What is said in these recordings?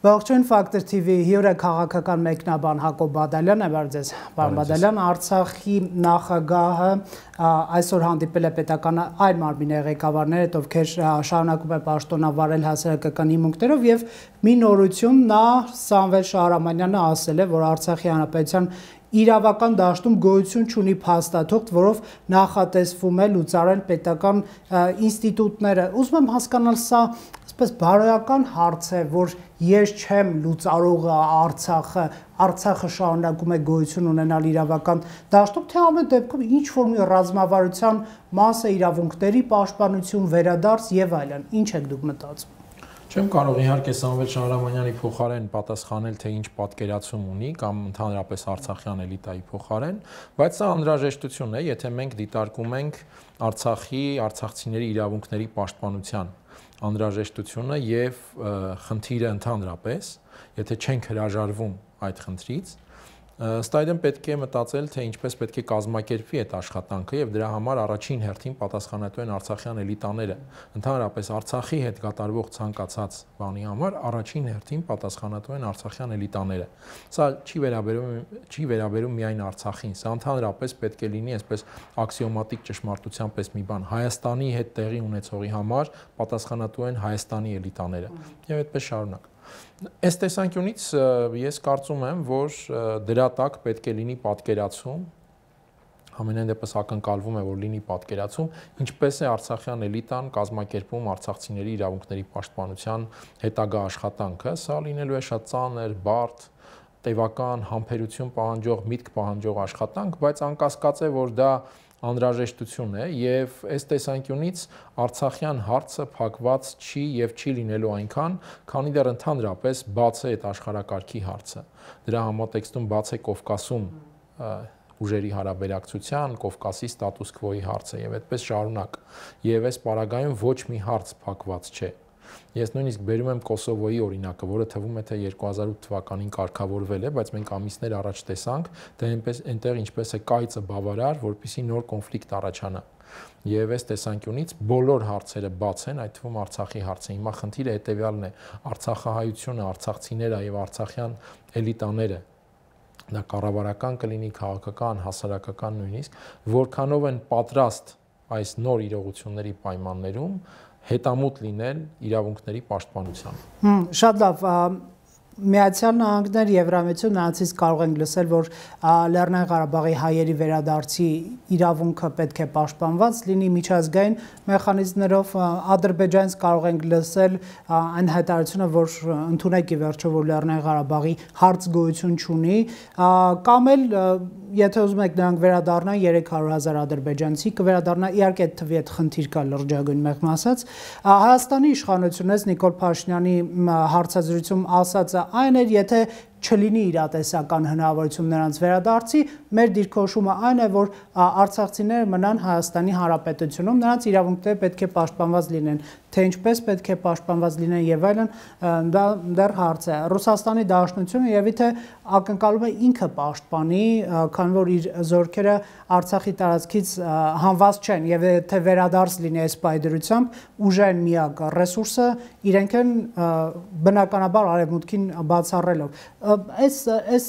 Ողջույն Factor TV հյուրը քաղաքական մեկնաբան Հակոբ Բադալյանն է, բարև ձեզ։ Պարոն Բադալյան, Արցախի նախագահը այսօր հանդիպել է պետական այլ մարմինների ղեկավարներ, ովքեր շարունակում են պաշտոնավարել հասարակական հիմունքներով եւ մի նորություն նա Սամվել Շահրամանյանը ասել է, որ Արցախի հանրապետության իրավական դաշտում գոյություն չունի փաստաթուղթ, որով նախատեսվում է լուծարել պետական ինստիտուտները։ Ուզում եմ հասկանալ սա այսպես բարոյական հարց է, որ ես չեմ լուծարողը Արցախը շարունակում է գոյություն ունենալ իրավական դաշտում, թե ամեն դեպքում ինչ որ մի ռազմավարության մաս է, իրավունքների պաշտպանություն, վերադարձ եւ այլն։ Ինչ եք դուք մտածում։ Չեմ կարող իհարկե Սամվել Շահրամանյանի փոխարեն պատասխանել, թե ինչ պատկերացում ունի կամ ընդհանրապես արցախյան էլիտայի փոխարեն, բայց սա անհրաժեշտություն է, եթե մենք դիտարկում ենք արցախցիների իրավունքների պաշտպանության անհրաժեշտությունը եւ խնդիրը ընդհանրապես, եթե չենք հրաժարվում այդ խնդրից, ըստ այդմ պետք է մտածել, թե ինչպես պետք է կազմակերպվի այդ աշխատանքը եւ դրա համար առաջին հերթին պատասխանատու են արցախյան էլիտաները։ Ընդհանրապես Արցախի հետ կատարվող ցանկացած բանի համար առաջին հերթին պատասխանատու են արցախյան էլիտաները։ Սա չի վերաբերում միայն Արցախին, սա ընդհանրապես պետք է լինի այսպես աքսիոմատիկ ճշմարտության պես մի բան։ Հայաստանի հետ տեղի ունեցողի համար պատասխանատու են Հայաստանի էլիտաները եւ այդպես շարունակ։ Այս տեսանկյունից ես կարծում եմ, որ դրա տակ պետք է լինի պատկերացում, ամենայն դեպս ակնկալվում է, որ լինի պատկերացում, ինչպես է արցախյան էլիտան կազմակերպում արցախցիների իրավունքների պաշտպանության հետագա աշխատանքը, սա լինելու է շատ ծանր, բարդ, տևական, համբերություն պահանջող, միտք պահանջող աշխատանք, բայց անկասկած է, որ դա անհրաժեշտություն է եւ այս տեսանկյունից արցախյան հարցը փակված չի եւ չի լինելու այնքան, քանի դեռ ընդհանրապես բաց է այդ աշխարհակարգի հարցը։ Դրա համատեքստում բաց է Կովկասում ուժերի հարաբերակցության, Կովկասի ստատուս քվոյի հարցը եւ այդպես շարունակ։ Եվ այս պարագայում ոչ մի հարց փակված չէ։ Ես նույնիսկ բերում եմ Կոսովոյի օրինակը, որը թվում է թե 2008 թվականին կարգավորվել է, բայց մենք ամիսներ առաջ տեսանք, թե այնտեղ ինչպես է կայծը բավարար, որպեսզի նոր կոնֆլիկտ առաջանա։ Եվ այս տեսանկյունից բոլոր հարցերը բաց են, այդ թվում Արցախի հարցը։ Հիմա խնդիրը հետեւյալն է. արցախահայությունը, արցախցիները եւ արցախյան էլիտաները, դա կառավարական կլինի, քաղաքական, հասարակական նույնիսկ, որքանով են պատրաստ այս նոր իրողությունների պայմաններում հետամուտ լինել իրավունքների պաշտպանության։ Շատ լավ, Միացյալ Նահանգներ, Եվրամիություն, նրանցից կարող ենք լսել, որ Լեռնային Ղարաբաղի հայերի վերադարձի իրավունքը պետք է պաշտպանված լինի միջազգային մեխանիզմներով, Ադրբեջանից կարող ենք լսել այն հայտարարությունը, որ ընդունեք ի վերջո, որ Լեռնային Ղարաբաղի հարց գոյություն չունի, կամ էլ եթե ուզում եք նրանք վերադառնան 300,000 ադրբեջանցի կվերադառնա, իհարկե այդ թվի այդ խնդիր կա լրջագույն մեղմ ասած։ Հայաստանի իշխանությունից Նիկոլ Փաշինյանի հարցազրույցում ասածը այն էր, եթե չլինի իրատեսական հնարավորություն նրանց վերադարձի, մեր դիրքորոշումը այն է, որ արցախցիները մնան Հայաստանի Հանրապետությունում, նրանց իրավունքները պետք է պաշտպանված լինեն, թե ինչպես պետք է պաշտպանված լինեն եւ այլն, դա դեռ հարց է։ Ռուսաստանի Դաշնությունը եւ իթե ակնկալում է ինքը պաշտպանի, քանի որ իր զորքերը Արցախի տարածքից հանված չեն եւ եթե վերադարձ լինի այս պայդրությամբ, ուժային միակ ռեսուրսը իրենք են բնականաբար արևմուտքին բացառելով։ Այս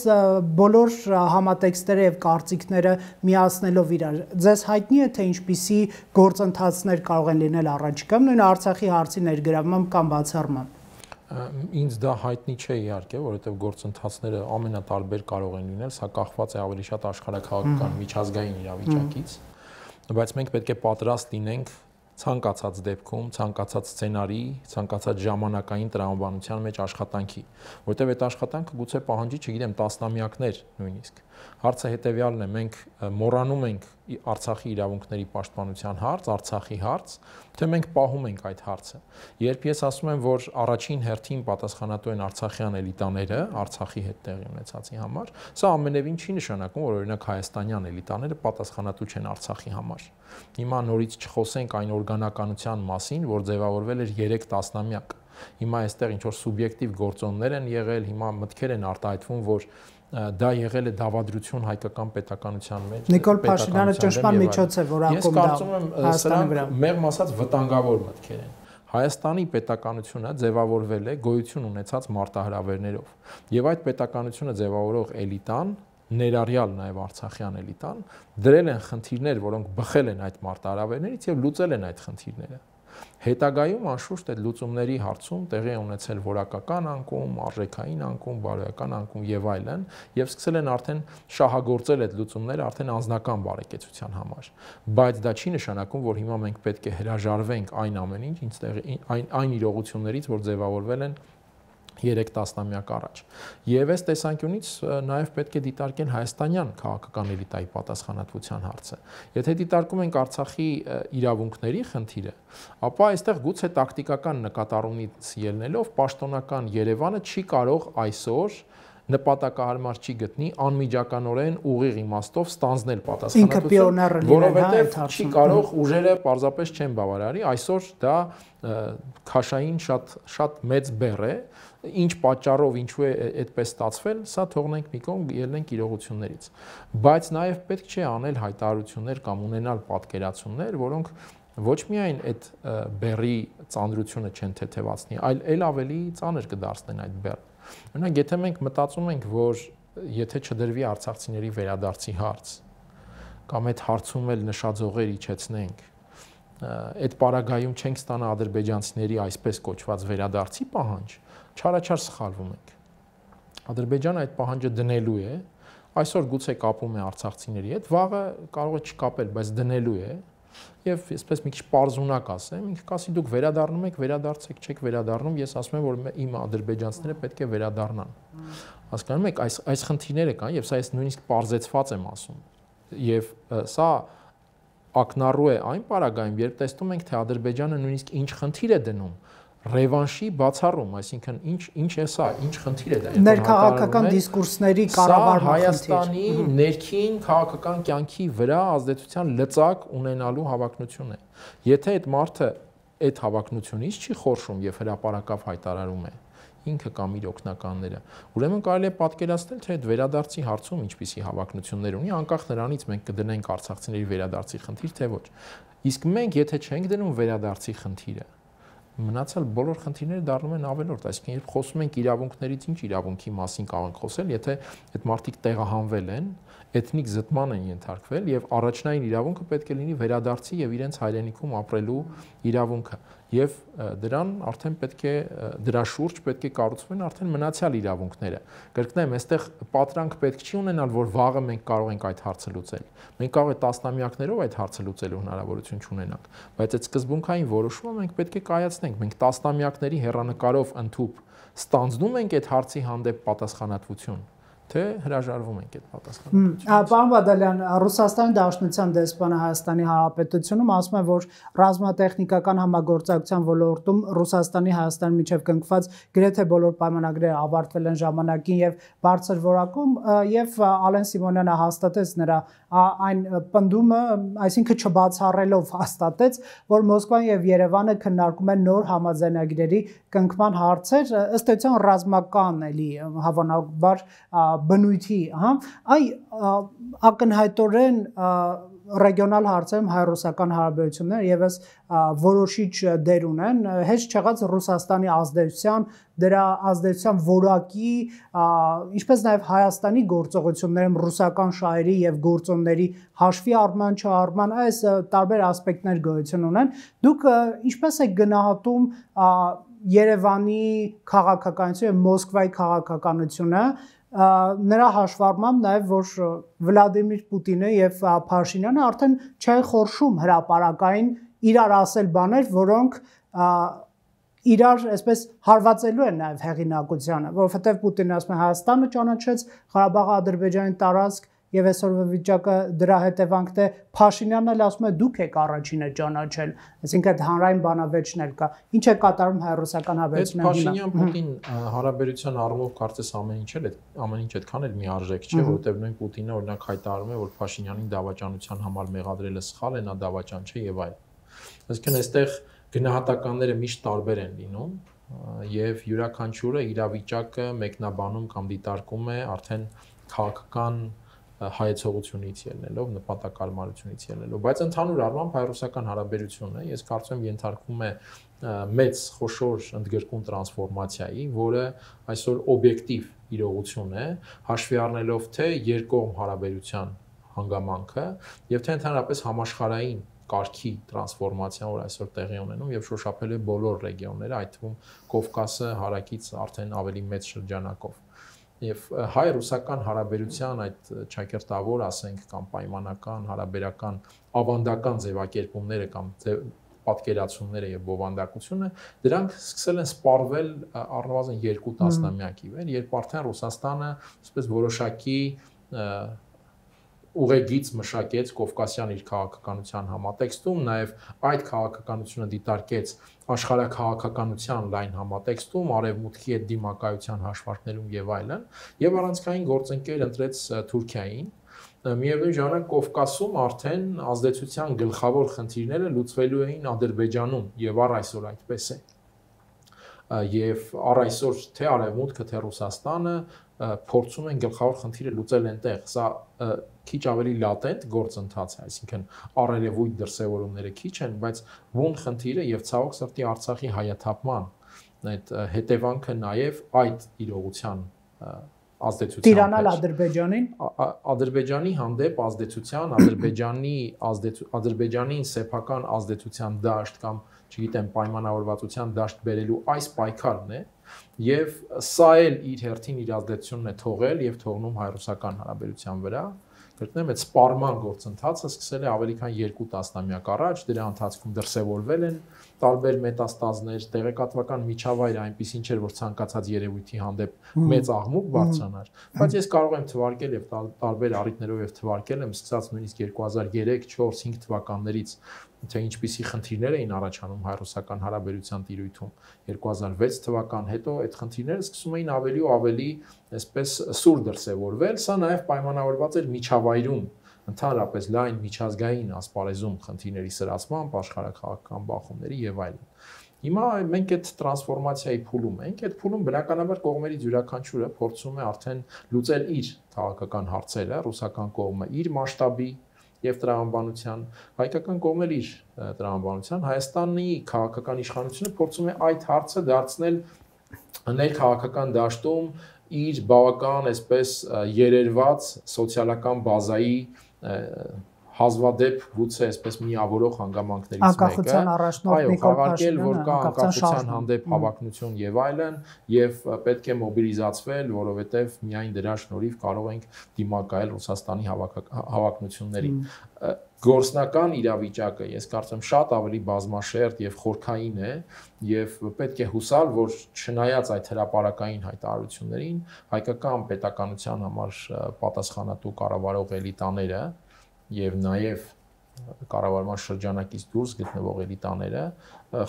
բոլոր համատեքստերը եւ կարծիքները միացնելով իրար, ձեզ հայտնի է թե ինչպիսի գործընթացներ կարող են լինել առաջիկայում, նույն Արցախի հարցի ներգրավմամբ կամ բացառմամբ։ Ինձ դա հայտնի չէ իհարկե, որովհետեւ գործընթացները ամենատարբեր կարող են լինել, սա կախված է ավելի շատ աշխարհակաղակական միջազգային իրավիճակից, բայց մենք պետք է պատրաստ լինենք ցանկացած դեպքում, ցանկացած սցենարի, ցանկացած ժամանակային տրամաբանության մեջ աշխատանքի, որտեղ այդ աշխատանքը գուցե պահանջի, չգիտեմ, տասնամյակներ նույնիսկ։ Հարցը հետեւյալն է, մենք մոռանում ենք Արցախի իրավունքների պաշտպանության հարց, Արցախի հարց, թե մենք պահում ենք այդ հարցը։ Երբ ես ասում եմ, որ առաջին հերթին պատասխանատու են արցախյան էլիտաները, Արցախի հետ տեղի ունեցածի համար, սա ամենևին չի նշանակում, որ օրինակ հայաստանյան էլիտաները պատասխանատու չեն Արցախի համար։ Հիմա նորից չխոսենք այն օրգանականության մասին, որ ձևավորվել էր 3 տասնամյակ։ Հիմա այստեղ ինչ որ սուբյեկտիվ գործոններ են եղել, հիմա մտքեր են արտահայտվում, որ դա եղել է դավադրություն հայկական պետականության մեջ։ Նիկոլ Փաշինյանը ճնշման միջոց է որակում դա։ Ես կարծում եմ սրանք մեղմ ասած վտանգավոր մտքեր են։ Հայաստանի պետականությունը ձևավորվել է գոյություն ունեցած մարտահրավերներով, եւ այդ պետականությունը ձևավորող էլիտան, ներառյալ նաեւ արցախյան էլիտան, դրել են խնդիրներ, որոնք բխել են այդ մարտահրավերներից եւ լուծել են այդ խնդիրները։ Հետագայում անշուշտ այդ լուծումների հարցում տեղի է ունեցել որակական անկում, արժեքային անկում, բարոյական անկում եւ այլն, եւ սկսել են արդեն շահագործել այդ լուծումները արդեն անձնական բարեկեցության համար։ Բայց դա չի նշանակում, որ հիմա մենք պետք է հրաժարվենք այն ամեն ինչ, այն իրողություններից, որ ձևավորվել են 3 տասնամյակ առաջ։ Եվ այս տեսանկյունից նաև պետք է դիտարկել հայաստանյան քաղաքական էլիտայի պատասխանատվության հարցը։ Եթե դիտարկում ենք Արցախի իրավունքների խնդիրը, ապա այստեղ գուցե տակտիկական նկատառումից ելնելով պաշտոնական Երևանը չի կարող այսօր նպատակահարմար չի գտնի անմիջականորեն ուղիղ իմաստով ստանձնել պատասխանատվություն, որովհետև չի կարող ուժերը պարզապես չեն բավարարի, այսօր դա քաշային շատ մեծ բեռ է, ինչ պատճառով ինչու է այդպես ստացվել, սա թողնենք մի կողմ, ելնենք իրողություններից, բայց նաև պետք չէ անել հայտարարություններ կամ ունենալ պատկերացումներ, որոնք ոչ միայն այդ բեռի ծանրությունը չեն թեթևացնի, այլ ավելի ծանր կդարձնեն այդ բեռը։ Օրինակ, եթե մենք մտածում ենք, որ եթե չդրվի արցախցիների վերադարձի հարց, կամ այդ հարցում էլ նշաձողեր իջեցնենք, այդ պարագայում չենք ստանա ադրբեջանցիների այսպես կոչված վերադարձի պահանջ, չարաչար սխալվում ենք։ Ադրբեջանը այդ պահանջը դնելու է, այսօր գուցե կապում է արցախցիների հետ, վաղը կարող է չկապել, բայց դնելու է, եւ այսպես մի քիչ պարզունակ ասեմ, ինքը կասի դուք վերադառնում եք, վերադարձեք, չեք վերադառնում, ես ասում եմ, որ իմ ադրբեջանցիները պետք է վերադառնան։ Հասկանում եք, այս խնդիրները կան եւ սա ես նույնիսկ պարզեցված եմ ասում։ Եվ սա ակնառու է այն պարագայում, երբ տեսնում ենք, թե Ադրբեջանը նույնիսկ ինչ խնդիր է դնում ռևանշի բացառում, այսինքն ինչ է սա, ինչ խնդիր է դա։ Ներքաղաքական դիսկուրսների կառավարման խնդիր։ Հայաստանի ներքին քաղաքական կյանքի վրա ազդեցության լծակ ունենալու հավակնություն է։ Եթե այդ մարդը այդ հավակնությունից չի խորշում եւ հրապարակավ հայտարարում է ինքը կամ իր օգնականները, ուրեմն կարելի է պատկերացնել, թե այդ վերադարձի հարցում ինչպիսի հավակնություններ ունի, անկախ նրանից մենք կդնենք արցախցիների վերադարձի խնդիր, թե ոչ։ Իսկ մենք եթե չենք դնում վերադարձի խնդիրը, մնացած բոլոր խնդիրները դառնում են ավելորդ, այսինքն երբ խոսում ենք իրավունքներից, ինչ իրավունքի մասին կարող ենք խոսել, եթե այդ մարդիկ տեղահանվել են, էթնիկ զտման են ենթարկվել եւ առաջնային իրավունքը պետք է լինի վերադարձի եւ իրենց հայրենիքում ապրելու իրավունքը եւ դրան արդեն պետք է դրա շուրջ պետք է կառուցվեն արդեն մնացյալ իրավունքները։ Կրկնեմ, այստեղ պատրանք պետք չի ունենալ, որ վաղը մենք կարող ենք այդ հարցը լուծել։ Մենք կարող է տասնամյակներով այդ հարցը լուծելու հնարավորություն չունենանք, բայց այդ սկզբունքային որոշումը մենք պետք է կայացնենք։ Մենք տասնամյակների հեռանկարով ընդհուպ ստանձնում ենք այդ հարցի հանդեպ պատասխանատվություն, թե հրաժարվում ենք այդ պատասխանատվությունից։ Պարոն Բադալյան, Ռուսաստանի Դաշնության դեսպանը Հայաստանի Հանրապետությունում ասում է, որ ռազմատեխնիկական համագործակցության ոլորտում Ռուսաստանի Հայաստանի միջև կնքված գրեթե բոլոր պայմանագրերը ավարտվել են ժամանակին եւ բարձր որակում, եւ Ալեն Սիմոնյանը հաստատեց նրա այն պնդումը, այսինքն չբացառելով հաստատեց, որ Մոսկվան եւ Երևանը քննարկում են նոր համաձայնագրերի կնքման հարցեր, ըստ էության ռազմական էլի հավանաբար բնույթի, ակնհայտորեն ռեգիոնալ հարցերում հայ-ռուսական հարաբերությունները եւս որոշիչ դեր ունեն, հեչ չեղած Ռուսաստանի ազդեցության, դրա ազդեցության որակի, ինչպես նաեւ Հայաստանի գործողություններում ռուսական շահերի եւ գործոնների հաշվի առման չառման, այս տարբեր ասպեկտներ գոյություն ունեն։ Դուք ինչպես եք գնահատում Երևանի քաղաքականությունը եւ Մոսկվայի քաղաքականությունը, նրա հաշվառմամբ նաև որ Վլադիմիր Պուտինը եւ Փաշինյանը արդեն չեն խորշում հրապարակային իրար ասել բաներ, որոնք իրար այսպես հարվածելու են նաև հեղինակությանը, որովհետեւ Պուտինը ասում է Հայաստանը ճանաչեց Ղարաբաղը Ադրբեջանի տարածք եւ այսօրվա վիճակը դրա հետևանքն է, Փաշինյանն էլ ասում է դուք եք առաջինը ճանաչել, այսինքն այդ հանրային բանավեճն էլ կա։ Ինչ է կատարում հայ-ռուսական հարաբերությունները։ Փաշինյան-Պուտին հարաբերության առումով կարծես ամեն ինչ այդքան էլ միարժեք չէ, որովհետեւ նույն Պուտինը օրինակ հայտարարում է, որ Փաշինյանին դավաճանության համար մեղադրելը սխալ է, նա դավաճան չէ եւ այլն։ Այսինքն այստեղ գնահատականները միշտ տարբեր են լինում եւ յուրաքանչյուրը իրավիճակը մեկնաբանում կամ դիտարկում է արդեն քաղաքական հայեցողությունից ելնելով, նպատակարարությունից ելնելով, բայց ընդհանուր առմամբ հայ-ռուսական հարաբերությունը, ես կարծում եմ, ենթարկվում է մեծ խոշոր ընդգրկուն տրանսֆորմացիայի, որը այսօր օբյեկտիվ իրողություն է, հաշվի առնելով թե երկկողմ հարաբերության հանգամանքը եւ թե ընդհանրապես համաշխարհային կարգի տրանսֆորմացիան, որ այսօր տեղի ունենում եւ շոշափել է բոլոր ռեգիոնները, այդ թվում Կովկասը հարակից արդեն ավելի մեծ շրջանակով։ Եվ հայ-ռուսական հարաբերության այդ ճակերտավոր, ասենք, կամ պայմանական, հարաբերական, ավանդական ձևակերպումները կամ պատկերացումները եւ բովանդակությունը, դրանք սկսել են սպառվել առնվազն 2 տասնամյակի վեր, երբ արդեն Ռուսաստանը, այսպես որոշակի ուղեգիծ մշակեց Կովկասյան իր քաղաքականության համատեքստում, նաև այդ քաղաքականությունը դիտարկեց աշխարհաքաղաքականության լայն համատեքստում, արևմուտքի հետ դիմակայության հաշվարկներում եւ այլն, եւ առանցքային գործընկեր ընտրեց Թուրքիային։ Միևնույն ժամանակ Կովկասում արդեն ազդեցության գլխավոր խնդիրները լուծվելու էին Ադրբեջանում եւ առ այսօր այդպես է։ Եվ առ այսօր թե արևմուտքը, թե Ռուսաստանը փորձում են գլխավոր խնդիրը լուծել այնտեղ։ Սա քիչ ավելի լատենտ գործընթաց է, այսինքն առերևույթ դրսևորումները քիչ են, բայց բուն խնդիրը եւ ցավոք սրտի Արցախի հայաթափման այդ հետևանքը նաեւ այդ իրողության ազդեցության տիրանալ Ադրբեջանին, Ադրբեջանի հանդեպ ազդեցության, Ադրբեջանին սեփական ազդեցության դաշտ կամ, չգիտեմ, պայմանավորվածության դաշտ բերելու այս պայքարն է, եւ սա էլ իր հերթին իր ազդեցությունն է թողել եւ թողնում հայ-ռուսական հարաբերության վրա։ Կրկնեմ, այդ սպառման գործընթացը սկսել է ավելի քան 2 տասնամյակ առաջ, դրա ընթացքում դրսևորվել են տարբեր մետաստազներ, տեղեկատվական միջավայրը այնպեսին չէր, որ ցանկացած երևույթի հանդեպ մեծ աղմուկ բարձրանար, բայց ես կարող եմ թվարկել եւ տարբեր առիթներով եւ թվարկել եմ սկսած նույնիսկ 2003, 4, 5 թվականներից, թե ինչպիսի խնդիրներ էին առաջանում հայ-ռուսական հարաբերության տիրույթում 2006 թվական, հետո այդ խնդիրները սկսում էին ավելի ու ավելի այսպես սուր դրսևորվել, սա նաեւ պայմանավորված էր միջավայրում ընդհանրապես լայն միջազգային ասպարեզում խնդիրների սրացմամբ, աշխարհաքաղաքական բախումների եւ այլն։ Հիմա մենք այդ տրանսֆորմացիայի փուլում ենք, այդ փուլում բնականաբար կողմերից յուրաքանչյուրը փորձում է արդեն լուծել իր քաղաքական հարցերը, ռուսական կողմը իր մասշտաբի եւ տրամաբանության, հայկական կողմն էլ իր տրամաբանության, Հայաստանի քաղաքական իշխանությունը փորձում է այդ հարցը դարձնել ներքաղաքական դաշտում իր բավական այսպես երերված սոցիալական բազայի հազվադեպ գուցե այսպես միավորող հանգամանքներից մեկը, այո, խաղարկել, որ կա անկախության հանդեպ հավակնություն եւ այլն, եւ պետք է մոբիլիզացվել, որովհետեւ միայն դրա շնորհիվ կարող ենք դիմակայել Ռուսաստանի հավակնություններին։ Գործնական իրավիճակը, ես կարծում եմ, շատ ավելի բազմաշերտ եւ խորքային է եւ պետք է հուսալ, որ չնայած այդ հրապարակային հայտարարություններին, հայկական պետականության համար պատասխանատու կառավարող էլիտաները եւ նաեւ կառավարման շրջանակից դուրս գտնվող էլիտաները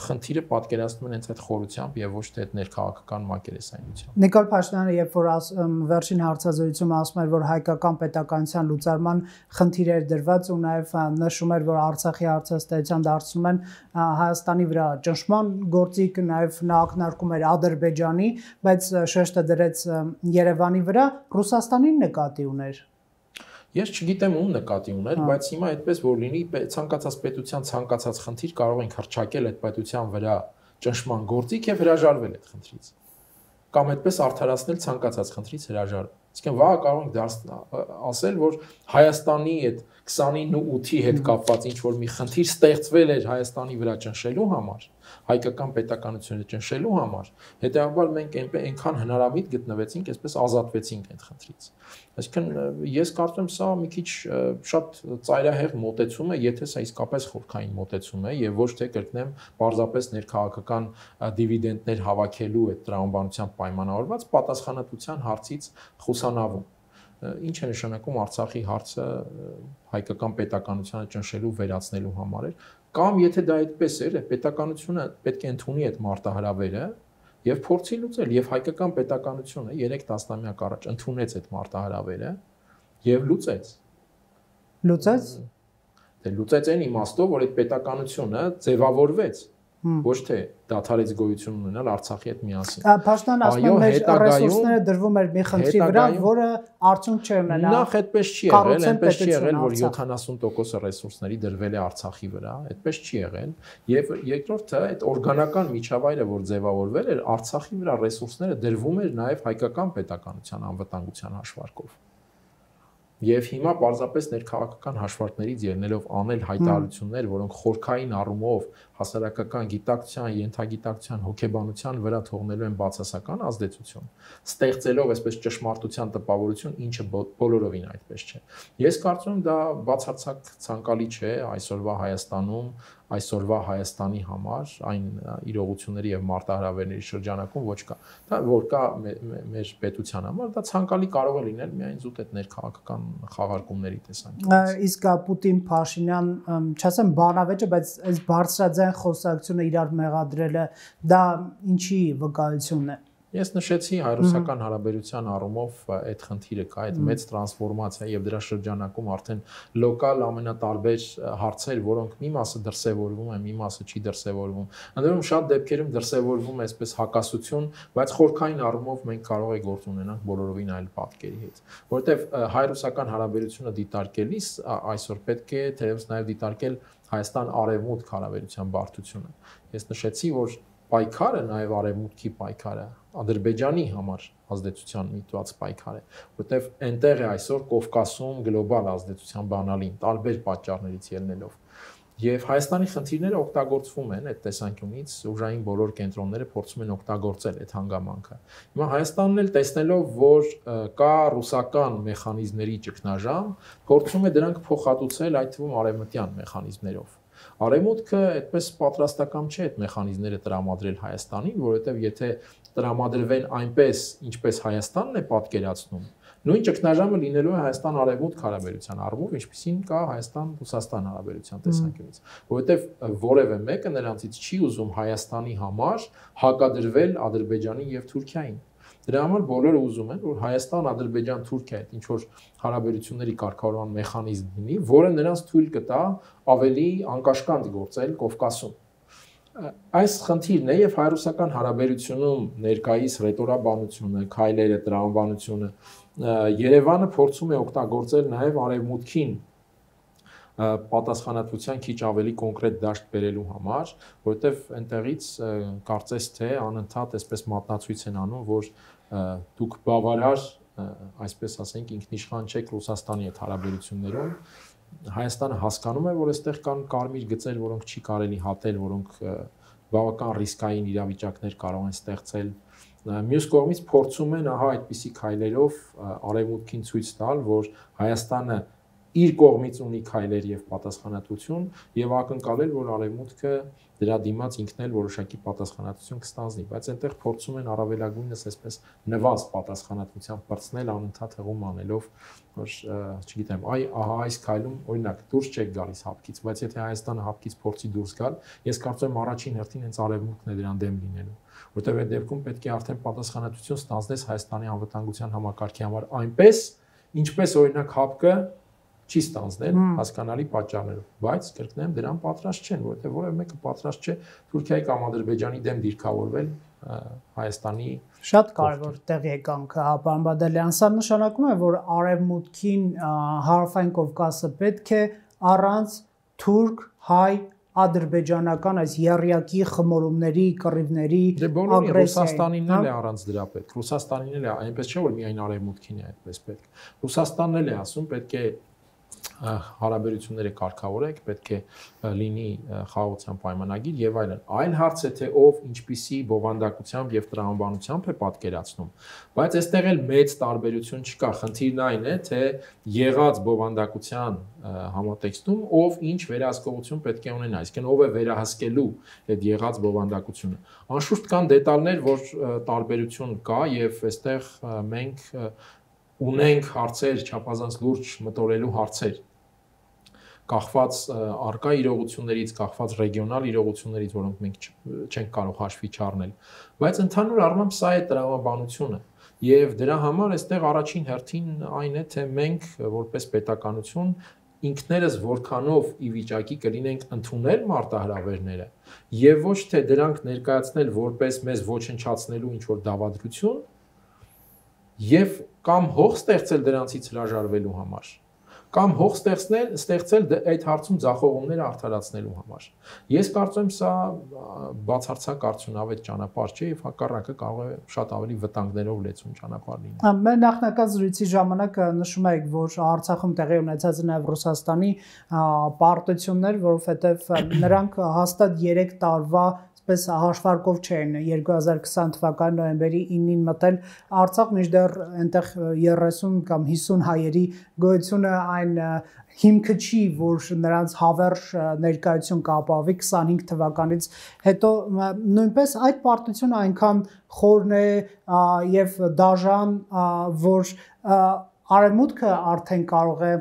խնդիրը պատկերացնում են հենց այդ խորությամբ եւ ոչ թե այդ ներքաղաքական մակերեսայնությամբ։ Նիկոլ Փաշինյանը, երբ որ վերջին հարցազրույցում ասում էր, որ հայկական պետականության լուծարման խնդիր էր դրված ու նաեւ նշում էր, որ Արցախի հարցազրույցան դարձնում են Հայաստանի վրա ճնշման գործիք, նաեւ նա ակնարկում էր Ադրբեջանի, բայց շեշտը դրեց Երևանի վրա, Ռուսաստանին նկատի ուներ։ Ես չգիտեմ ում նկատի ուներ, բայց հիմա այդպես որ լինի, ցանկացած պետության ցանկացած խնդիր կարող ենք հրճակել այդ պետության վրա ճնշման գործիք եւ հրաժարվել այդ խնդրից։ Կամ այդպես արդարացնել ցանկացած խնդրից հրաժարվել։ Իսկեն վաղ կարող ենք ասել, որ Հայաստանի այդ 29-8-ի հետ կապված ինչ որ մի խնդիր ստեղծվել էր Հայաստանի վրա ճնշելու համար, հայկական պետականությունը ճնշելու համար, հետեւաբար մենք այնքան հնարամիտ գտնվեցինք, այսպես ազատվեցինք այդ խնդրից։ Այսինքն ես կարծում եմ սա մի քիչ շատ ծայրահեղ մոտեցում է, եթե սա իսկապես խորքային մոտեցում է եւ ոչ թե կրկնեմ պարզապես ներքաղաքական դիվիդենդներ հավաքելու այդ տրամաբանությամբ պայմանավորված պատասխանատվության հարցից խուսանավում։ Ինչ է նշանակում Արցախի հարցը հայկական պետականությանը ճնշելու վերացնելու համար էր, կամ եթե դա այդպես էր, պետականությունը պետք է ընդունի այդ մարտահրավերը եւ փորձի լուծել, եւ հայկական պետականությունը 3 տասնամյակ առաջ ընդունեց այդ մարտահրավերը եւ լուծեց։ Լուծեց։ Դե լուծեց այն իմաստով, որ այդ պետականությունը ձևավորվեց ոչ թե դադարից գոյություն ունենալ Արցախի հետ միասին։ Պաշտպան ասում է մեր ռեսուրսները դրվում էր մի խնդրի վրա, որը արդյունք չէ ունենա։ Նախ այդպես չի եղել, այնպես չի եղել, որ 70% ռեսուրսների դրվել է Արցախի վրա, այդպես չի եղել, եւ երկրորդը այդ օրգանական միջավայրը, որ ձևավորվել էր, Արցախի վրա ռեսուրսները դրվում էր նաեւ հայկական պետականության անվտանգության հաշվարկով։ Եվ հիմա պարզապես ներքաղաքական հաշվարկներից ելնելով անել հայտարարություններ, որոնք խորքային առումով հասարակական գիտակցության, ենթագիտակցության, հոգեբանության վրա թողնելու են բացասական ազդեցություն, ստեղծելով այսպես ճշմարտության տպավորություն, ինչը բոլորովին այդպես չէ։ Ես կարծում եմ դա բացարձակ ցանկալի չէ այսօրվա Հայաստանում, այսօրվա Հայաստանի համար, այն իրողությունների եւ մարտահրավերների շրջանակում ոչ կա։ Դա որ կա մեր պետության համար, դա ցանկալի կարող է լինել միայն զուտ այդ ներքաղաքական խաղարկումների տեսանկյունից։ Իսկ Պուտին-Փաշինյան, չասեմ բանավեճը, բայց այս բարձրաձայն խոսակցությունը իրար մեղադրելը դա ինչի վկայությունն է։ Ես նշեցի հայ-ռուսական հարաբերության առումով այդ խնդիրը կա, այդ մեծ տրանսֆորմացիա եւ դրա շրջանակում արդեն լոկալ ամենատարբեր հարցեր, որոնք մի մասը դրսևորվում են, մի մասը չի դրսևորվում։ Ընդդեմ շատ դեպքերում դրսևորվում է այսպես հակասություն, բայց խորքային առումով մենք կարող ենք գործ ունենանք բոլորովին այլ պատկերի հետ, որովհետեւ հայ-ռուսական հարաբերությունը դիտարկելիս այսօր պետք է թերևս նաեւ դիտարկել Հայաստան-Արևմուտք հարաբերության բարդությունը։ Ես նշեցի, որ պայքարը նաև արևմուտքի պայքարը Ադրբեջանի համար ազդեցության միտված պայքար է, որտեղ այնտեղ է այսօր Կովկասում գլոբալ ազդեցության բանալին տարբեր պատճառներից ելնելով։ Եվ Հայաստանի խնդիրները օգտագործվում են այդ տեսանկյունից, ուժային բոլոր կենտրոնները փորձում են օգտագործել այդ հանգամանքը։ Հիմա Հայաստանն էլ տեսնելով, որ կա ռուսական մեխանիզմների ճգնաժամ, փորձում է դրանք փոխհատուցել այդ թվում արևմտյան մեխանիզմներով։ Արևմուտքը այդպես պատրաստական չէ այդ մեխանիզմները տրամադրել Հայաստանին, որովհետև եթե տրամադրվեն այնպես, ինչպես Հայաստանն է պատկերացնում, նույն ճգնաժամը լինելու է Հայաստան-Արևմուտք հարաբերության առումով, ինչպիսին կա Հայաստան-Ռուսաստան հարաբերության տեսանկյունից, որովհետև որևէ մեկը նրանցից չի ուզում Հայաստանի համար հակադրվել Ադրբեջանին եւ Թուրքիային։ Դրա համար բոլորը ուզում են, որ Հայաստան-Ադրբեջան-Թուրքիա այդ ինչ որ հարաբերությունների կարգավորման մեխանիզմ լինի, որը նրանց թույլ կտա ավելի անկաշկանդ գործել Կովկասում։ Այս խնդիրն է եւ հայ-ռուսական հարաբերությունում ներկայիս ռետորաբանությունը, քայլերը, տրամաբանությունը Երևանը փորձում է օգտագործել նաեւ արևմուտքին պատասխանատվության քիչ ավելի կոնկրետ դաշտ բերելու համար, որովհետև այնտեղից կարծես թե անընդհատ այսպես մատնացույց են անում, որ դուք բավարար, այսպես ասենք, ինքնիշխան չեք Ռուսաստանի հետ հարաբերություններում։ Հայաստանը հասկանում է, որ այստեղ կան կարմիր գծեր, որոնք չի կարելի հատել, որոնք բավական ռիսկային իրավիճակներ կարող են ստեղծել։ Մյուս կողմից փորձում են ահա այդպիսի քայլերով արևմուտքին ցույց տալ, որ Հայաստանը իր կողմից ունի քայլեր եւ պատասխանատվություն եւ ակնկալել, որ արևմուտքը դրա դիմաց ինքն էլ որոշակի պատասխանատվություն կստանձնի, բայց այնտեղ փորձում են առավելագույնս այսպես նվազ պատասխանատվությամբ բրցնել անընդհատ հղում անելով, որ չգիտեմ, ահա այս քայլում օրինակ դուրս չեք գալիս հապկից, բայց եթե Հայաստանը հապկից փորձի դուրս գալ, ես կարծում եմ առաջին հերթին հենց արևմուտքն է դրան դեմ լինելու, որտեղ այդ դեպքում պետք է արդեն պատասխանատվություն ստանձնես Հայաստանի անվտանգության համակարգի համար այնպես, ինչպես օրինակ հապկը չի ստանձնել հասկանալի պատճառներով, բայց կրկնեմ դրան պատրաստ չեն, որովհետև որևէ մեկը պատրաստ չէ Թուրքիայի կամ Ադրբեջանի դեմ դիրքավորվել Հայաստանի շատ կարևոր տեղ եկանք, պարոն Բադալյան, սա նշանակում է, որ արևմուտքին հարավային Կովկասը պետք է առանց թուրք, հայ, ադրբեջանական այս եռյակի խմորումների, կռիվների, ագրեսիայի։ Ռուսաստանին էլ է առանց դրա պետք։ Ռուսաստանին էլ է, այնպես չէ որ միայն արևմուտքին է այդպես պետք։ Ռուսաստանն էլ է ասում, պետք է հարաբերությունները կարգավորեք, պետք է լինի խաղաղության պայմանագիր եւ այլն։ Այլ հարց է, թե ով ինչպիսի բովանդակությամբ եւ տրամաբանությամբ է պատկերացնում, բայց այստեղ էլ մեծ տարբերություն չկա։ Խնդիրն այն է, թե եղած բովանդակության համատեքստում ով ինչ վերահսկողություն պետք է ունենա, այսինքն ով է վերահսկելու այդ եղած բովանդակությունը։ Անշուշտ կան դետալներ, որ տարբերություն կա եւ այստեղ մենք ունենք հարցեր, չափազանց լուրջ մտորելու հարցեր, կախված արկա իրողություններից, կախված ռեգիոնալ իրողություններից, որոնք մենք չենք կարող հաշվի չառնել, բայց ընդհանուր առմամբ սա է տրամաբանությունը եւ դրա համար այստեղ առաջին հերթին այն է, թե մենք որպես պետականություն ինքներս որքանով ի վիճակի կլինենք ընդունել մարտահրավերները եւ ոչ թե դրանք ներկայացնել որպես մեզ ոչնչացնելու ինչ որ դավադրություն եւ կամ հող ստեղծել դրանցից հրաժարվելու համար կամ հող ստեղծել այդ հարցում ձախողումները արդարացնելու համար։ Ես կարծում եմ սա բացարձակ արդյունավետ ճանապարհ չէ եւ հակառակը կարող է շատ ավելի վտանգներով լեցուն ճանապարհ լինել։ Մեր նախնական զրույցի ժամանակ նշում եք, որ Արցախում տեղի ունեցած նաեւ Ռուսաստանի պարտություններ, որովհետեւ նրանք հաստատ 3 տարվա պես հաշվարկով չէին 2020 թվականի նոյեմբերի 9-ին մտել Արցախ, մինչդեռ այնտեղ 30 կամ 50 հայերի գոյությունը այն հիմքը չի, որ նրանց հավերժ ներկայություն կապավի 25 թվականից հետո նույնպես այդ պարտությունը այնքան խորն է եւ դաժան, որ արևմուտքը արդեն կարող է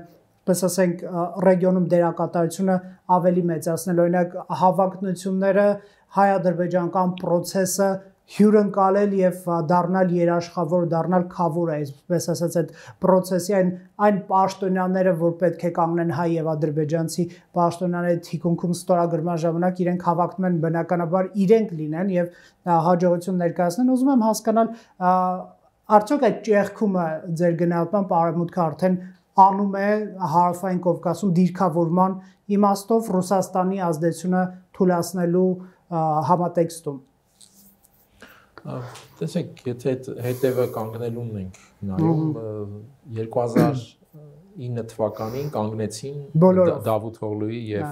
պես ասենք ռեգիոնում դերակատարությունը ավելի մեծացնել, օրինակ հավակնությունները հայ-ադրբեջանական process-ը հյուրընկալել եւ դառնալ երաշխավոր, դառնալ քավոր է, այսպես ասած այդ process-ի այն պաշտոնյաները, որ պետք է կանգնեն հայ եւ ադրբեջանցի պաշտոնյաների թիկունքում ստորագրման ժամանակ իրենք հավակնում են բնականաբար իրենք լինեն եւ հաջողություն ներկայացնեն։ Ուզում եմ հասկանալ արդյոք այդ ճեղքումը ձեր գնահատմամբ արևմուտքը արդեն անում է հարավային Կովկասում դիրքավորման իմաստով Ռուսաստանի ազդեցությունը թույլատնելու համատեքստում։ Տեսեք, եթե հետևը կանգնելուն ենք նայում 2009 թվականին կանգնեցին Դավութ Օղլուի եւ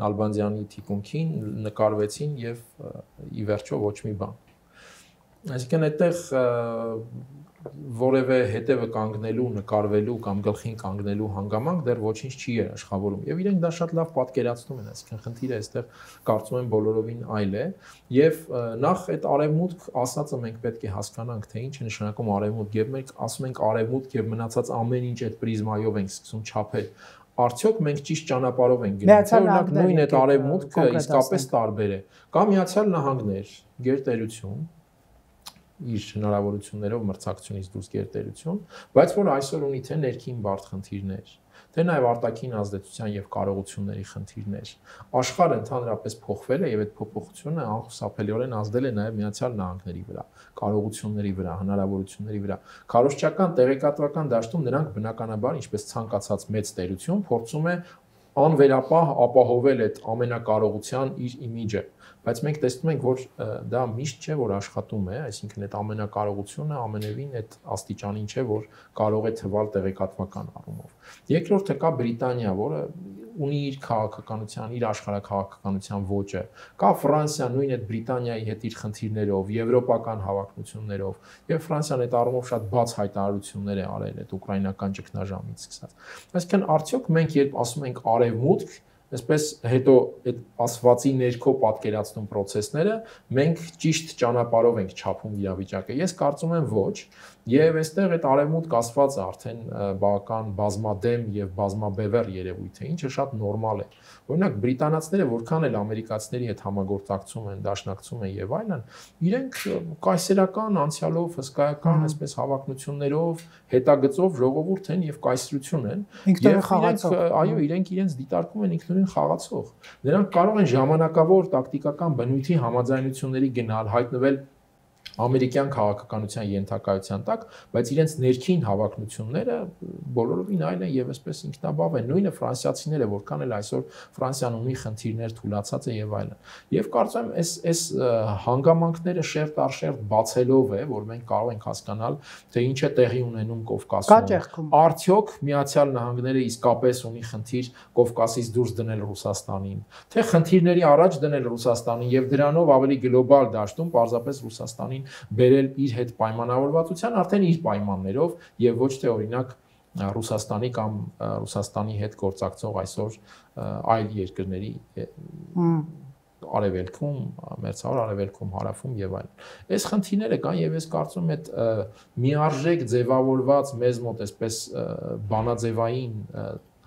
Նալբանդյանի թիկունքին, նկարվեցին եւ ի վերջո ոչ մի բան։ Այսինքն այդտեղ որևէ հետևը կանգնելու, նկարվելու կամ գլխին կանգնելու հանգամանք դեռ ոչինչ չի երաշխավորում եւ իրենք դա շատ լավ պատկերացնում են, այսինքն խնդիրը այստեղ կարծում եմ բոլորովին այլ է եւ նախ այդ արևմուտք ասածը մենք պետք է հասկանանք, թե ինչ է նշանակում արևմուտք եւ մենք ասում ենք արևմուտք եւ մնացած ամեն ինչ այդ պրիզմայով ենք սկսում չափել։ Արդյոք մենք ճիշտ ճանապարհով ենք գնում։ Օրինակ նույն այդ արևմուտքը իսկապես տարբեր է։ Կամ Միացյալ Նահանգներ, գերտերություն իր հնարավորություններով մրցակցությունից դուրս գերտերություն, բայց որ այսօր ունի թե ներքին բարդ խնդիրներ, թե նաև արտաքին ազդեցության եւ կարողությունների խնդիրներ։ Աշխարհը ընդհանրապես փոխվել է եւ այդ փոփոխությունը անխուսափելիորեն ազդել է նաև Միացյալ Նահանգների վրա, կարողությունների վրա, հնարավորությունների վրա։ Քարոզչական տեղեկատվական դաշտում նրանք բնականաբար, ինչպես ցանկացած մեծ տերություն, փորձում է անվերապահ ապահովել այդ ամենակարողության իր իմիջը, բայց մենք տեսնում ենք, որ դա միշտ չէ, որ աշխատում է, այսինքն այդ ամենակարողությունը ամենևին այդ աստիճանին չէ, որ կարող է թվալ տեղեկատվական առումով։ Երկրորդը կա Բրիտանիա, որը ունի իր քաղաքականության, իր աշխարհաքաղաքականության ոճը, կա Ֆրանսիա, նույն այդ Բրիտանիայի հետ իր խնդիրներով, եվրոպական հավակնություններով, եւ Ֆրանսիան այդ առումով շատ բաց հայտարարություններ է արել այդ ուկրաինական ճգնաժամից սկսած։ Այսինքն արդյոք մենք երբ ասում ենք արևմուտք, այսպես հետո այդ ասվածի ներքո պատկերացնում process-ները, մենք ճիշտ ճանապարհով ենք չափում իրավիճակը։ Ես կարծում եմ ոչ, եւ այստեղ այդ արևմուտք ասվածը արդեն բավական բազմադեմ եւ բազմաբևեռ երևույթ է, ինչը շատ նորմալ է։ Օրինակ բրիտանացիները որքան էլ ամերիկացիների հետ համագործակցում են, դաշնակցում են եւ այլն, իրենք կայսերական անցյալով, հսկայական այսպես հավակնություններով, հետագծով ժողովուրդ են եւ կայսրություն են։ Այո, իրենք իրենց դիտարկում են ինքնուրույն խաղացող։ Նրանք կարող են ժամանակավոր տակտիկական բնույթի համաձայնությունների գնալ, հայտնվել ամերիկյան քաղաքականության ենթակայության տակ, բայց իրենց ներքին հավակնությունները բոլորովին այլ են եւ այսպես ինքնաբավ են։ Նույնը ֆրանսիացիները, որքան էլ այսօր Ֆրանսիան ունի խնդիրներ, թուլացած է եւ այլն։ Եվ կարծում եմ այս հանգամանքները շերտ առ շերտ բացելով է, որ մենք կարող ենք հասկանալ, թե ինչ է տեղի ունենում Կովկասում։ Արդյոք Միացյալ Նահանգները իսկապես ունի խնդիր Կովկասից դուրս դնել Ռուսաստանին, թե խնդիրների առաջ դնել Ռուսաստանին եւ դրանով ավելի գլոբալ դաշտում պարզապես Ռուսաստանին բերել իր հետ պայմանավորվածության արդեն իր պայմաններով եւ ոչ թե օրինակ Ռուսաստանի կամ Ռուսաստանի հետ գործակցող այսօր այլ երկրների արևելքում, մերձավոր արևելքում, հարավում եւ այլն։ Այս խնդիրները կան եւ ես կարծում եմ այդ միարժեք ձևավորված մեզ մոտ այսպես բանաձևային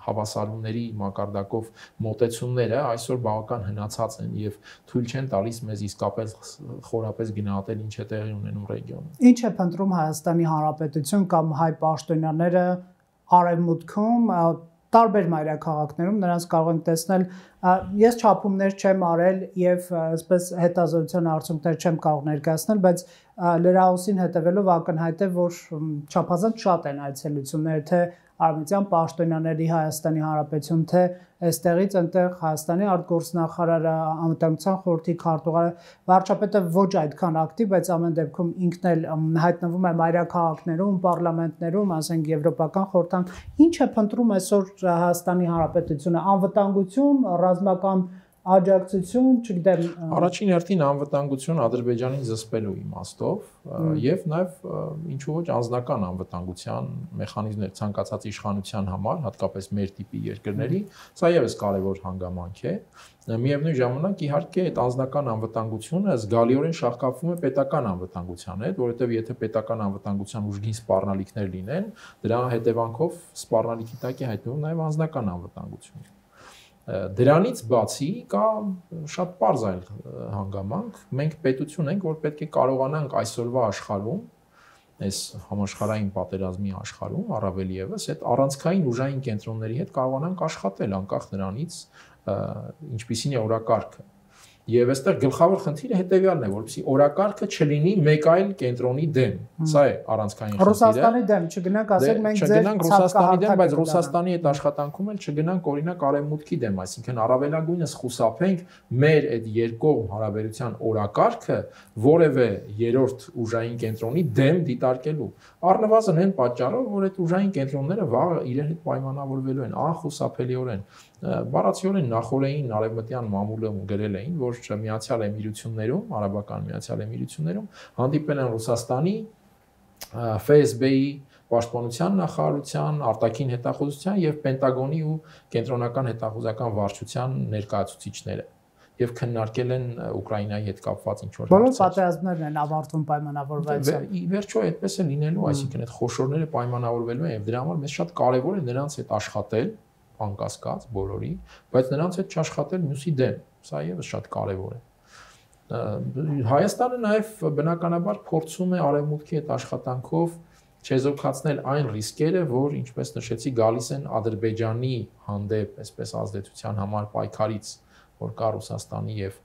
հավասարումների մակարդակով մոտեցումները այսօր բավական հնացած են եւ թույլ չեն տալիս մեզ իսկապես խորապես գնահատել ինչ է տեղի ունենում ռեգիոնում։ Ինչ է փնտրում Հայաստանի Հանրապետություն կամ հայ պաշտոնյաները արևմուտքում տարբեր մայրաքաղաքներում նրանց կարող ենք տեսնել ես չափումներ չեմ արել եւ այսպես հետազոտության արդյունքներ չեմ կարող ներկայացնել, բայց լրահոսին հետևելով ակնհայտ է, որ չափազանց շատ են այցելությունները, թե Արմենիան պաշտոնյաների Հայաստանի Հանրապետություն, թե այստեղից այնտեղ Հայաստանի արտգործնախարարը, անվտանգության խորհրդի քարտուղարը, վարչապետը ոչ այդքան ակտիվ, բայց ամեն դեպքում ինքն էլ հայտնվում է մայրաքաղաքներում, պարլամենտներում, ասենք եվրոպական խորհրդան, ինչ է փնտրում այսօր Հայաստանի Հանրապետությունը, անվտանգություն, ռազմական աջակցություն, չգիտեմ, առաջին հերթին անվտանգություն Ադրբեջանին զսպելու իմաստով եւ նաեւ ինչու ոչ անձնական անվտանգության մեխանիզմներ ցանկացած իշխանության համար, հատկապես մեր տիպի երկրների, սա եւս կարեւոր հանգամանք է։ Միևնույն ժամանակ իհարկե այդ անձնական անվտանգությունը զգալիորեն շահկապվում է պետական անվտանգության հետ, որովհետեւ եթե պետական անվտանգության ուժգին սպառնալիքներ լինեն, դրա հետևանքով սպառնալիքի տակ է հայտնվում նաեւ անձնական անվտանգությունը։ Դրանից բացի կա շատ պարզ այլ հանգամանք, մենք պետություն ենք, որ պետք է կարողանանք այսօրվա աշխարհում, այս համաշխարհային պատերազմի աշխարհում, առավել եւս այդ առանցքային ուժային կենտրոնների հետ կարողանանք աշխատել անկախ նրանից, ինչպիսին է օրակարգը։ Եվ այստեղ գլխավոր խնդիրը հետեւյալն է, որպեսզի օրակարգը չլինի մեկ այլ կենտրոնի դեմ։ Սա է առանցքային խնդիրը։ Ռուսաստանի դեմ չգնանք, ասենք մենք ձեր Ռուսաստանի դեմ, բայց Ռուսաստանի հետ աշխատանքում էլ չգնանք օրինակ արևմուտքի դեմ, այսինքն առավելագույնս խուսափենք մեր այդ երկկողմ հարաբերության օրակարգը որևէ երրորդ ուժային կենտրոնի դեմ դիտարկելու։ Առնվազն այն պատճառով, որ այդ ուժային կենտրոնները վաղը իրար հետ պայմանավորվելու են անխուսափելիորեն։ Բառացիորեն նախորդային արևմտյան մամուլը գրել էին, որ Միացյալ Էմիրություններում, Արաբական Միացյալ Էմիրություններում հանդիպել են Ռուսաստանի FSB-ի, Պաշտպանության նախարարության, արտաքին հետախուզության եւ Պենտագոնի ու կենտրոնական հետախուզական վարչության ներկայացուցիչները եւ քննարկել են Ուկրաինայի հետ կապված ինչ որ հարցեր։ Բոլոր պատերազմներն են ավարտվում պայմանավորվածությամբ։ Ի վերջո այդպես է լինելու, այսինքն այդ խոշորները պայմանավորվելու են եւ դրա համար մեզ շատ կարեւոր է նրանց հետ աշխատել, անկասկած բոլորի, բայց նրանց հետ չաշխատել մյուսի դեմ։ Սա եւս շատ կարեւոր է։ Հայաստանը նաեւ բնականաբար փորձում է արևմուտքի հետ աշխատանքով չեզոքացնել այն ռիսկերը, որ ինչպես նշեցի, գալիս են Ադրբեջանի հանդեպ, այսպես ազդեցության համար պայքարից, որ կա Ռուսաստանի եւ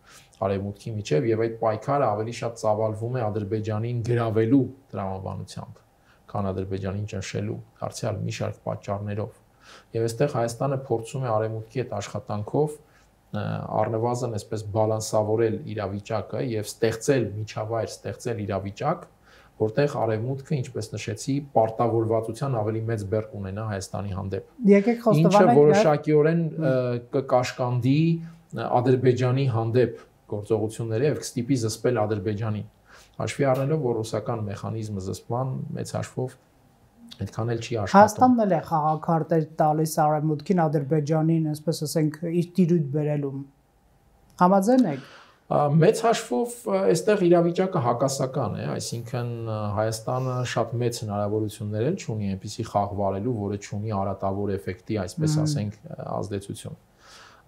արևմուտքի միջեւ, եւ այդ պայքարը ավելի շատ ծավալվում է Ադրբեջանին գրավելու տրամաբանությամբ, քան Ադրբեջանին ճնշելու, դարձյալ մի շարք պատճառներով։ Եվ այստեղ Հայաստանը փորձում է արևմուտքի հետ աշխատանքով առնվազն այսպես բալանսավորել իրավիճակը եւ ստեղծել միջավայր, ստեղծել իրավիճակ, որտեղ արևմուտքը, ինչպես նշեցի, պարտավորվածության ավելի մեծ բեռ կունենա Հայաստանի հանդեպ։ Եկեք խոստովանենք, ինչը որոշակիորեն կկաշկանդի Ադրբեջանի հանդեպ գործողությունները եւ կստիպի զսպել Ադրբեջանին։ Հաշվի առնելով, որ ռուսական մեխանիզմը զսպման մեծ հաշվով այդքան էլ չի աշխատում։ Հայաստանն էլ է խաղաքարտեր տալիս արևմուտքին, Ադրբեջանին, այսպես ասենք, իր տիրույթ բերելուն։ Համաձայն եք։ Մեծ հաշվով այստեղ իրավիճակը հակասական է, այսինքն Հայաստանը շատ մեծ հնարավորություններ էլ չունի այնպիսի խաղ վարելու, որը չունի արատավոր էֆեկտի, այսպես ասենք, ազդեցություն։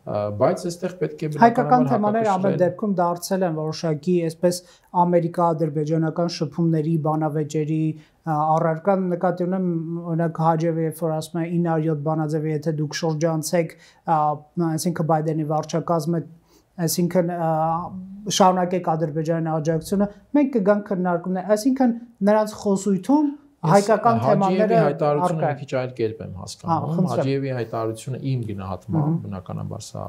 Բայց այստեղ պետք է հայկական թեմաները ամեն դեպքում դարձել են որոշակի այսպես ամերիկա-ադրբեջանական շփումների, բանավեճերի առարկան նկատի ունեմ, օրինակ Հաջևը երբ որ ասում է 907 բանաձևը, եթե դուք շրջանցեք, այսինքն Բայդենի վարչակազմը, այսինքն շարունակեք Ադրբեջանի աջակցությունը, մենք կգանք քննարկումներ, այսինքն նրանց խոսույթում հայկական թեմաները հայտարարությունը մի քիչ այլ կերպ եմ հասկանում։ Հաջիևի հայտարարությունը իմ գնահատմամբ, բնականաբար սա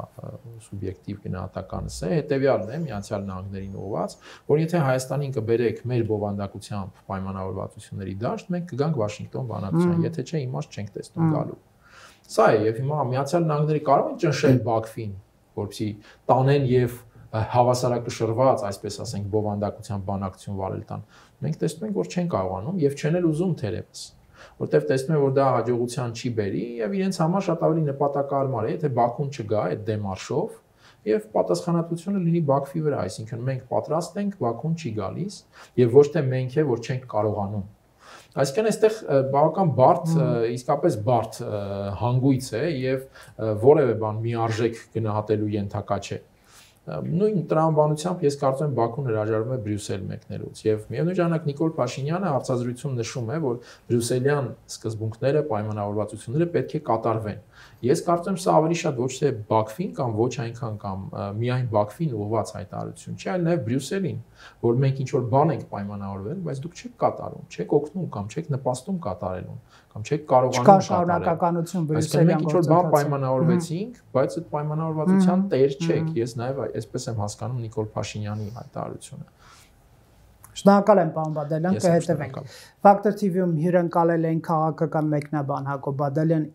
սուբյեկտիվ գնահատականս է, հետեւյալն է Միացյալ Նահանգներին ուղղված, որ եթե Հայաստանին կբերեք մեր բովանդակությամբ պայմանավորվածությունների դաշտ, մենք կգանք Վաշինգտոն բանակցության, եթե չէ իմաստ չենք տեսնում գալու։ Սա է, եւ հիմա Միացյալ Նահանգները կարող են ճնշել Բաքվին, որպեսզի տանեն եւ հավասարակշռված, այսպես ասենք, բովանդակության բանակցություն վարել տան։ Մենք տեսնում ենք, որ չեն կարողանում եւ չեն էլ ուզում թերևս, որտեվ տեսնում են, որ դա հաջողության չի բերի եւ իրենց համար շատ ավելի նպատակարար է, եթե Բաքուն չգա այդ դեմարշով եւ պատասխանատվությունը լինի Բաքվի վրա, այսինքն մենք պատրաստ ենք, Բաքուն չի գալիս եւ ոչ թե մենք է, որ չենք կարողանում։ Այսինքն այստեղ բավական բարդ, իսկապես բարդ հանգույց է եւ որևէ բան միարժեք գնահատելու ենթակա չէ։ նույն տրամաբանությամբ ես կարծում եմ Բաքուն հրաժարվում է Բրյուսել մեկնելուց եւ միևնույն ժամանակ Նիկոլ Փաշինյանը հարցազրույցում նշում է, որ բրյուսելյան սկզբունքները, պայմանավորվածությունները պետք է կատարվեն։ Ես կարծում եմ սա ավելի շատ ոչ թե Բաքվին կամ ոչ այնքան կամ միայն Բաքվին ուղղված հայտարարություն չէ, այլ նաեւ Բրյուսելին, որ մենք ինչ որ բան ենք պայմանավորվել, բայց դուք չեք կատարում, չեք օգնում կամ չեք նպաստում կատարելուն, կամ չեք կարողանում շարունակականություն Բրյուսելյան գործընթացի։ Մենք ինչ որ բան պայմանավորվեցինք, բայց այդ պայմանավորվածության տեր չեք։ Ես նաեւ այսպես եմ հասկանում Նիկոլ Փաշինյանի հայտարարությունը։ Շնորհակալ եմ, պարոն Բադալյան, կհետևենք։ Factor TV-ում հյուրընկալել էին քաղաքական մեկնաբան Հակոբ Բադալյան։